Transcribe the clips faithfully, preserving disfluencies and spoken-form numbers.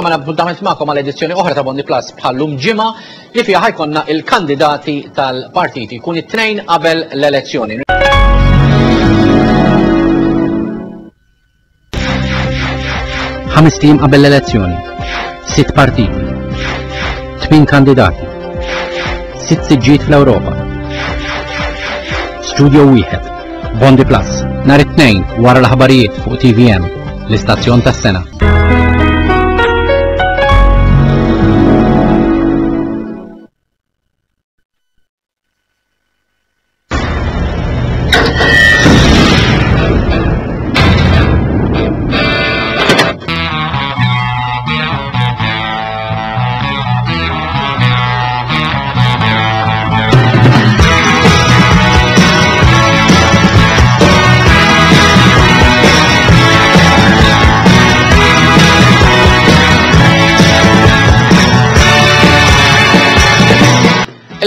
Nerġa' appuntament magħkom għal edizzjoni oħra ta' Bondiplus bħallum ġimgħa li fiha ħa jkollna il-kandidati tal-partiti jkun it-tnejn qabel l-elezzjoni. Ħames ijiem qabel l-elezzjoni, sitt partiti, tmien kandidati, sitt siġġijiet fl-Ewropa. Studio wieħed, Bondiplus, nhar it-tnejn wara l-aħbarijiet fuq T V M, l-istazzjon tas-sena.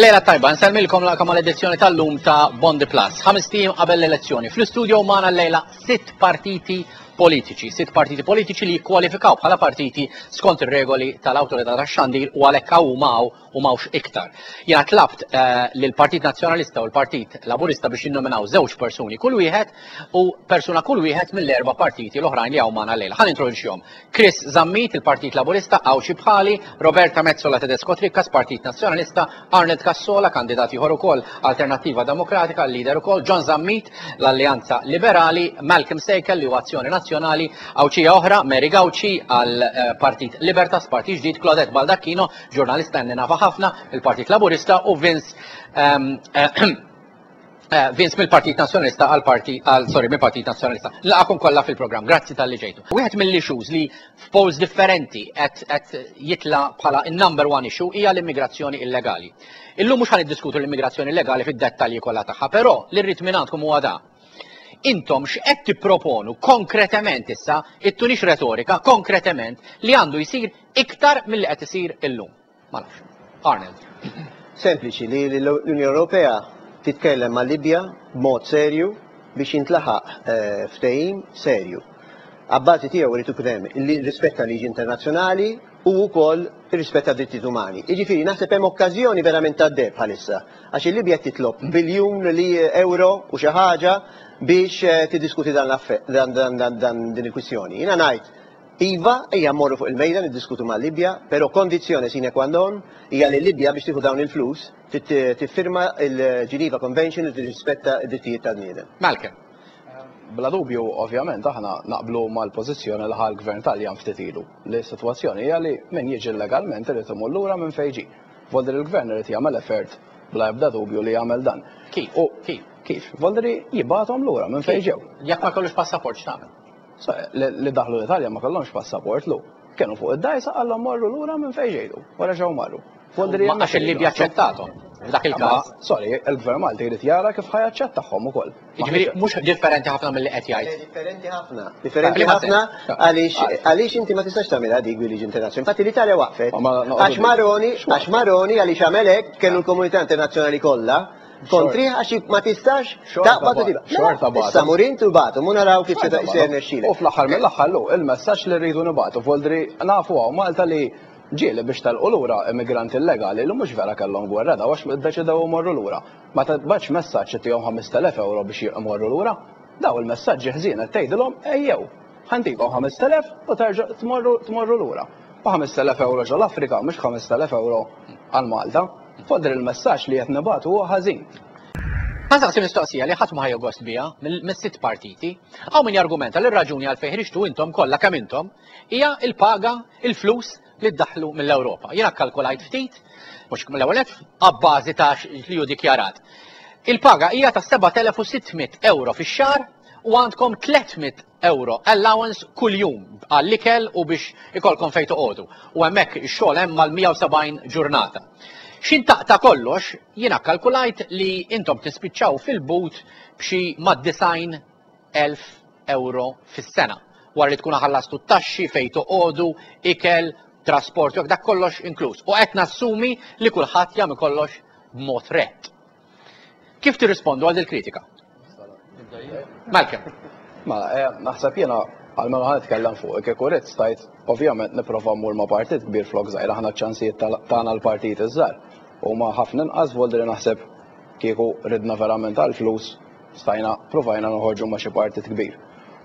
Lejla tajba, nsellmilkom, nilqagħkom għal edizzjoni tal-lum ta' Bondiplus. Ħamest ijiem qabel l-elezzjoni. Fl-istudio magħna l-lejla sitt partiti politiċi. Sitt partiti politiċi li jikkwalifikaw bħala partiti skont ir-regoli tal-Awtorità tax-Xandir u għalhekk hawn maw u mawx iktar. Jiena tlabt eh, lill-Partit Nazzjonalista u l-Partit Laburista biex jinnominaw żewġ persuni kull wieħed u persuna kull wieħed mill-erba' partiti l-oħrajn li hawn magħna llejla. Ħa nintroduċihom. Chris Zammit, il-Partit Laburista, Għawdxi bħali, Roberta Metsola Tedesco Trickas, Partit Nazzjonalista, Arnold Cassola, kandidat ieħor ukoll Alternattiva Demokratika, l-leader ukoll, John Zammit, l-Alleanza Liberali, Malcolm Sejkel li huwa Azzjoni Nazzjonali, Għawdxija oħra, Mary Gauci għal eh, Partit Libertas, Partit Ġdid, Claudette Baldacchino, ġurnalista li nafa ħafna, il-Partit Laburista u Vince um, uh, Vince mill-Partit Nazzjonalista għal partit għal sorry mill-Partit Nazzjonalista. Nilqagħkom kollha fil-programm, grazzi talli ġejtu. Wieħed mill-issues li f'polls differenti qed qed jitla bħala in-number one issue hija l-immigrazzjoni illegali. Illum mhux ħa niddiskutu l-immigrazzjoni illegali fid-dettalji kollha tagħha, però li rrid minn għandkom huwa da. Intom x'qed tipproponu konkretement issa, ittunix retorika, konkretement li għandu jsir iktar milli qed isir illum? Ma nafx. Arnold. Sempliċi, li l-Unjoni Ewropea titkellem ma' Libja b'mod serju biex jintlaħaq eh, ftehim serju. Abbażi tiegħu irid ikun hemm il-rispett tal-liġi internazzjonali u wkoll ir-rispett tad drittijiet umani. Jiġifieri naħseb hemm okkażjoni verament tad-deheb bħalissa għax il-Libja titlob biljun li euro u xi ħaġa biex eh, tiddiskuti dan dan dan dan din il-kwistjoni. Jiena ngħid iva, ejja mmorru fuq il-mejda niddiskutu ma' Libja, però kondizzjoni sine qua non hija li Libja, biex tieħu dawn il-flus, tiffirma il-Geneva Convention u tirrispetta d-drittijiet tal-bniedem. Malcolm. Bla dubju, ovvjament, aħna naqblu mal-pożizzjoni li ħa l-gvern Taljan ftit ilu. Li s-sitwazzjoni hija li min jiġi illegalment irid imur lura minn fejn ġie. Voldri l-gvern irid jagħmel effort bla ebda dubju li jagħmel dan. Kif? U Kif? Kif? Voldri jibgħathom lura minn fejn ġew. Jekk ma jkollux passaport, x'tagħmel? So, Li li daħlu l-Italja ma kellhomx passaport lu. Kienu fuq id-dgħajsa, qallhom morru lura minn fejn ġejtu. Wara ġew marru. Voldri Ma għax il-Libja aċċettathom. F'dak il-każ. Sorry, il-gvern Malti jrid jara kif ħa jaċċettahom ukoll. Jiġifieri mhux differenti ħafna milli qed jgħid. Differenti ħafna. Differenti Liema ħafna sens? għaliex għaliex inti ma tistax tagħmilha dik bil-liġi internazzjonali. Infatti l-Italja waqfet. Ma- ma- noqogħdu Għax Maroni, dik. għax Maroni għaliex għamel hekk kellu l-komunità internazzjonali kollha kontri għax ma tistax Xorta taqbad u ba- tibgħat. xorta Mela, bagħtu. issa mur intu bagħtu, mu naraw kif se se jirnexxilek. U fl-aħħar mill-aħħar lu, il-messaġġ li rridu nibagħtu, voldri nafu hawn Malta li ġieli biex telqu lura immigranti illegali li mhux vera kellhom gwerra daw għax iddeċidew imorru lura. Ma tibgħatx messaġġ tihom ħamest elef euro biex imorru lura. Daw il-messaġġi ħżien qed tgħidilhom ejjew. Ħa ntikom ħamest elef u terġa' tmorru tmorru lura. U ħamest elef euro ġol Afrika mhux ħamest elef euro għal Malta. Voldri il-messaġġ li qed nibagħtu huwa ħażin. Ħa nsaqsi mistoqsija li ħadd ma ħa jieħu gost biha mill-sitt partiti. Hawn min jargumenta li r-raġuni għalfejn ħriġtu intom kollha kemm intom hija il-paga, il-flus li ddaħlu mill-Ewropa. Jiena kkalkulajt ftit, mhux mill-ewwel nett, abbażi ta' li hu dikjarat. Il-paga hija ta' seba' elef u sitt mitt euro fix-xahar u għandkom tliet mitt euro allowance kuljum għall-ikel u biex ikolkom fejn toqogħdu. U hemmhekk ix-xogħol hemm mal-mija u sebgħin ġurnata. X'ħin taqta' kollox, jiena kalkulajt li intom tispiċċaw fil-but b'xi mad-disgħin elf euro fis-sena. Wara li tkun ħallastu t-taxxi, fejn toqogħdu, ikel, trasport, u dak kollox inkluż. U qed nassumi li kulħadd jagħmel kollox b'mod rett. Kif tirrispondu għal kritika? Malcolm. Ma eh, naħseb jiena Għalmenu ħa nitkellem fuq, kieku rrid stajt, ovvjament nipprova mmur ma' partit kbir flok żgħir, aħna ċ-ċansijiet tagħna l-partit iż-żgħar. Huma ħafna inqas voldri naħseb kieku ridna verament għall-flus stajna provajna noħorġu ma' xi partit kbir.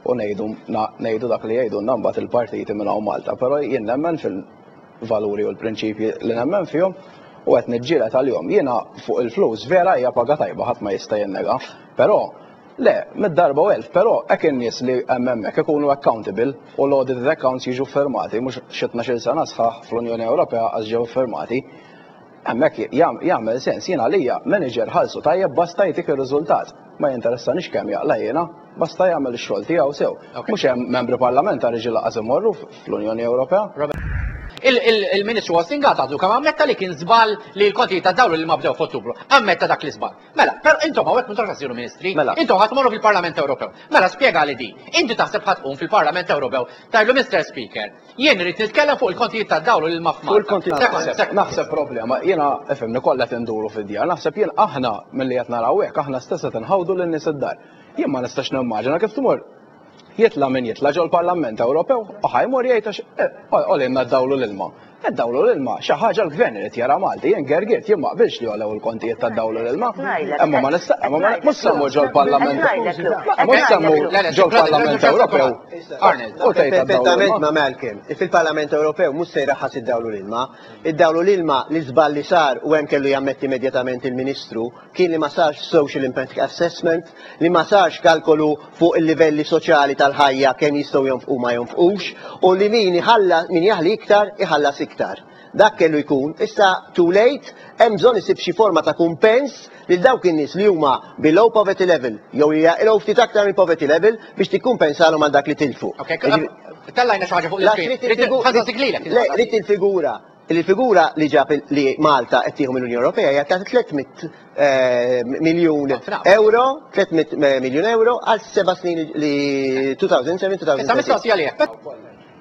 U ngħidu ngħidu dak li jgħidulna mbagħad il-partiti minn hawn Malta, però jien nemmen fil-valuri u l-prinċipji li nemmen fihom u qed niġġieled għalihom. Jiena fuq il-flus vera hija paga tajba ħadd ma jista' jinnega, però le, mid-darba u elf, però hekk in-nies li hemm hemmhekk ikunu accountable u l-audited accounts jiġu firmati, mhux xi tnax-il sena sħaħ fl-Unjoni Ewropea għax ġew firmati. Hemmhekk jagħmel sens, jiena għalija manager ħallsu tajjeb basta jtik ir-riżultat. Ma jinteressanix kemm jaqla' jiena, basta jagħmel ix-xogħol tiegħu sew. Mhux hemm membri parlamentari ġi laqas imorru fl-Unjoni Ewropea. Il-Ministru Austin Gatt għadu kemm ammetta li kien żball li l-konti ta' dawlu li ma bdew f'Ottubru. Ammetta dak l-iżball. Mela, però intom hawnhekk m'intomx ħa ssiru ministri, Mela. intom ħa tmorru fil-Parlament Ewropew. Mela spjega li di. Inti taħseb ħa tqum fil-Parlament Ewropew tgħidlu Mister Speaker, jien irid nitkellem fuq il-kontijiet ta' dawlu li ma Fuq il-kontijiet Sekond, sekond. Naħseb problema, jiena ifhimni kollha tinduru fid-djar, naħseb jien aħna milli qed naraw hekk aħna stess qed inħawdu lin-nies id-dar. Jien ma nistax nimmaġina kif tmur jitla' min jitla' ġol-Parlament Ewropew u ħa jmur jgħid għax għolinna d-dawlu l-ilma. Id-dawlu l-ilma xi ħaġa l-gvern irid jara Malti, jien gergirt jien ma qbilx li għolew il-kontijiet tad-dawlu l-ilma. Imma ma nista' imma ma mhux semmu ġol-Parlament. Mhux semmu ġol-Parlament Ewropew. Arnold. U tgħid għad-dawlu Perfettament l-ilma. ma' Malcolm. Fil-Parlament Ewropew mhux se jraħħas id-dawlu l-ilma. Id-dawlu l-ilma li żball li sar u hemm kellu jammetti immedjatament il-Ministru kien li ma sarx social impact assessment, li ma sarx kalkolu fuq il-livelli soċjali tal-ħajja kemm jistgħu jonfqu ma jonfqux, u li min iħalla min jaħli iktar iħallas iktar. Dak kellu jkun, issa too late, hemm bżonn isib xi forma ta' kumpens lil dawk in-nies li huma below poverty level jew jaqilgħu ftit aktar minn poverty level biex tikkumpensalhom għal dak li tilfu. Ok, tellajna xi ħaġa fuq La, l-iskrin. trid il-figu- Ħa nsaqsik lilek. Le, rrid il-figura. Il-figura li ġab il- li Malta qed tieħu mill-Unjoni Ewropea hija ta' tliet mitt eh, miljun Ħafna. euro, tliet mitt miljun euro għal seba' snin li elfejn u sebgħa Issa mistoqsija lilek.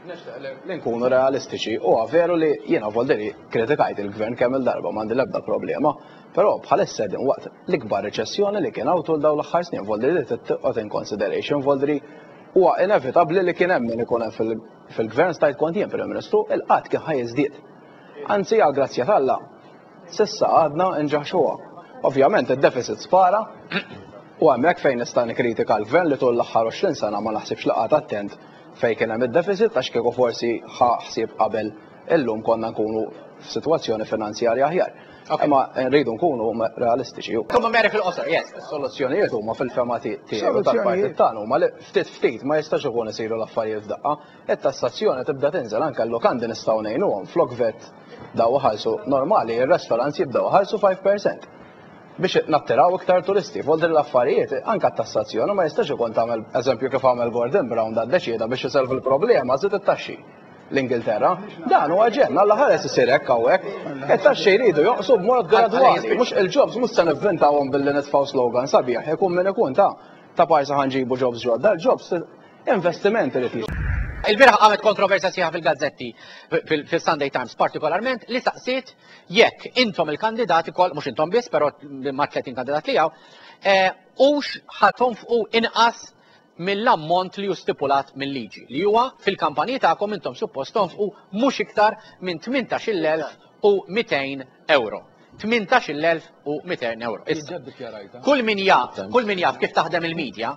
Nixtieq li nkunu realistiċi, huwa veru li jiena volderi kritikajt il-gvern kemm il-darba m'għandi l-ebda problema, però bħalissa din waqt l-ikbar reċessjoni li kien hawn tul dawn l-aħħar snin, volderi li titqgħod in consideration, volderi huwa inevitabbli li kien hemm min ikun hemm fil- fil-gvern stajt kont jien Prim Ministru, il-qgħad kien ħa jiżdied. Anzi, għal grazzja t'Alla, s'issa għadna nġaħxuha. Ovvjament id-deficit spara, u hemmhekk fejn nista' nikkritika l-gvern li tul l-aħħar għoxrin sena ma naħsibx li qagħad attent fejn kien hemm id-deficit għax kieku forsi ħa ħsieb qabel illum konna nkunu f'sitwazzjoni finanzjarja aħjar. Ok. Imma rridu nkunu realistiċi. Kumma Mary fil-qosor, yes. Is-soluzzjonijiet huma fil-fema tiegħi Soluzzjonijiet. tal-partit tagħna huma li ftit ftit ma jistax ikun isiru l-affarijiet f'daqqa. It-tassazzjoni tibda tinżel anke l-lukandi nistgħu ngħinuhom flok VAT daw ħalsu normali, ir-restaurants jibdew ħalsu five percent biex nattiraw iktar turisti. Volder l-affarijiet, anka t-tassazzjoni ma jistax ikun tagħmel eżempju kif għamel Gordon Brown da ddeċieda biex isolvi l-problema żid it-taxxi. L-Ingilterra, dan huwa ġenn, alla ħares isir hekk hawnhekk. It-taxxi jridu joqsu b'mod gradwali, mhux il-jobs mhux se nivvintawhom billi nitfgħu slogan sabiħ, ikun min ikun ta' ta' parsa ħa nġibu jobs ġodda, l-jobs investimenti li tiġi. Il-bieraħ qamet kontroversja sħiħa fil-gazzetti, fil-Sunday Times partikolarment, li saqsiet jekk intom il-kandidati kol, mhux intom biss, però ma' tletin kandidat li hawn, hux ħa tonfqu inqas mill-ammont li hu stipulat mill-liġi, li huwa fil-kampanji tagħkom intom suppost tonfqu mhux iktar minn tmintax-il elf u mitejn euro. tmintax-il elf u mitejn euro. Issa, kull min jaf, kull min jaf kif taħdem il-medja,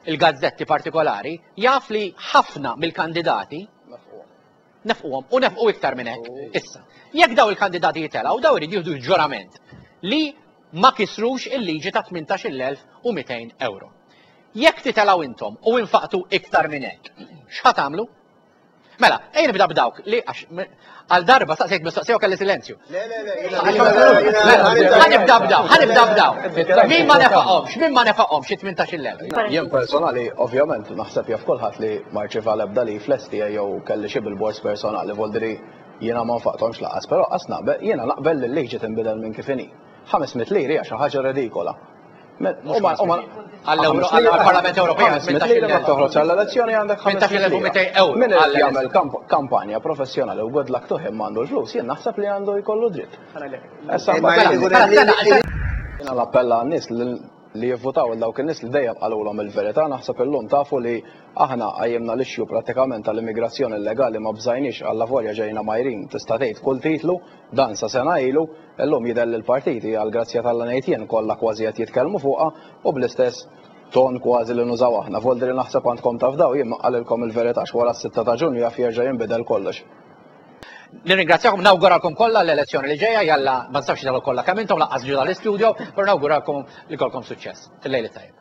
il-gazzetti partikolari, jaf li ħafna mill-kandidati nefquhom u nefqu iktar minn hekk. Issa, jekk daw il-kandidati jitelgħu, daw irid jieħdu ġurament li ma kisrux il-liġi ta' tmintax-il elf u mitejn euro. Jekk titelgħu intom u infaqtu iktar minn hekk, x'ħa tagħmlu? Mela, ejja nibda b'dawk li għax għal darba saqsejt mistoqsija u kelli silenzju. Le, le, le, Mela, ħa nibda b'daw, ħa nibda b'daw. Min ma nefaqhomx, min ma nefaqhomx it-tmintax-il elf? Jien personali, ovvjament, naħseb jaf kulħadd li ma rċieva l-ebda li flesti jew kelli xi bil-bors personali, voldiri jiena ma nfaqthomx laqas, però qas naqbel, jiena naqbel li l-liġi tinbidel minn kif inhi. ħames mitt liri hija xi ħaġa redikola. Għall-Parlament Ewropew ħames mitt lira ma toħroġ għall-elezzjoni għandek tmintax-il elf u mitejn euro. Min irid jagħmel kampanja professjonali u good luck to him għandu l-flus, jien naħseb li għandu jkollu dritt. Issa Imma jrid ikun hemm jiena l-appella għan-nies li li jivvotaw il dawk in-nies li dejjem qalulhom il-verità. Naħseb illum tafu li aħna qajjimna l-issue prattikament tal-immigrazzjoni illegali, ma bżajniex, għallavolja ġejna mgħajrin tista' tgħid kull titlu dan sa sena ilu, illum jidher li l-partiti, għal grazzja t'Alla ngħid jien, kollha kważi qed jitkellmu fuqha u bl-istess ton kważi li nużaw aħna. Voldri naħseb għandkom tafdaw, jien qalilkom il-verità, wara s-sitta ta' Ġunju jaf jerġa' jinbidel kollox. Nirringrazzjakom, nawguralkom kollha l-elezzjoni li ġejja, jalla ma nsafx dalu kollha kemm intom lanqas ġu dal-istudio, però nawguralkom li jkollkom suċċess. Il-lejl it-tajjeb.